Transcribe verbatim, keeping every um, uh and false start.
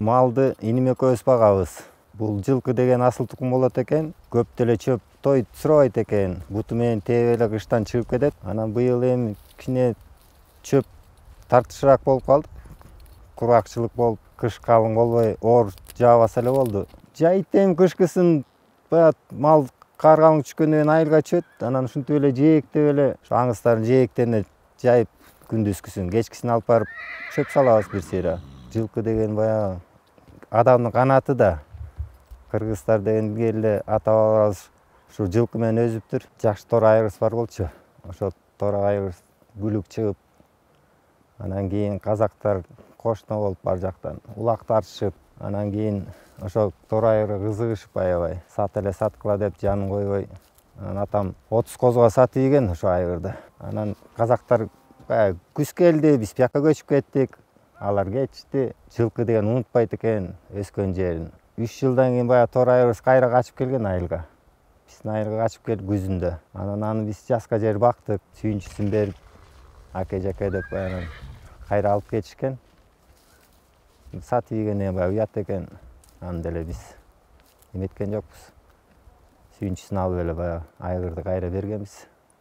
Малды иним экөөбүз багабыз. Бул жылкы деген асыл тукум болот экен. Көп деле чөп той сурабайт экен. Буту менен тээп эле кыштан чыгып кетет. Анан быйыл эми кичине чөп тартышыраак болуп калды. Кургакчылык болуп, кыш калың болбой, оор жаабаса эле болду. Жайыт эми кышкысын баягы мал кар калың түшкөндөн кийин айылга чөбөт. Анан ушинтип эле жээктеп эле ошо аңыздардын жээктерине жайып күндүзгүсүн, кечкисин алып барып чөп салабыз бир сыйра. Жылкы деген баягы адамдын канаты да. Кыргыздар дегенге эле ата-бабаларыбыз ушу жылкы менен өзүптүр. Жакшы тор айгырыбыз бар болчу. Ошо тор айгыр бүлүк чыгып, анан кийин казактар кошуна болуп ар жактан улак тартышып, анан кийин ошо тор айгырга кызыгышып аябай сат эле саткыла деп жанын койбой. Анан атам отуз козуга сатып ийген ошо айгырды. Анан казактар баягы күз келди, биз бияка көчүп кеттик. Алар кетишти. Жылкы деген унутпайт экен өскөн жерин. үч жылдан кийин баягы тор айгырыбыз кайра качып келген айылга. Биздин айылга качып келип күзүндө. Анан аны биз жазга жер бактык, сүйүнчүсүн берип, аке жаке деп баягы кайра алып кетишкен. Сатып ийгенине баягы уят экен. Аны деле биз эметкен жокпуз. Сүйүнчүсүн алып эле баягы айгырды кайра бергенбиз.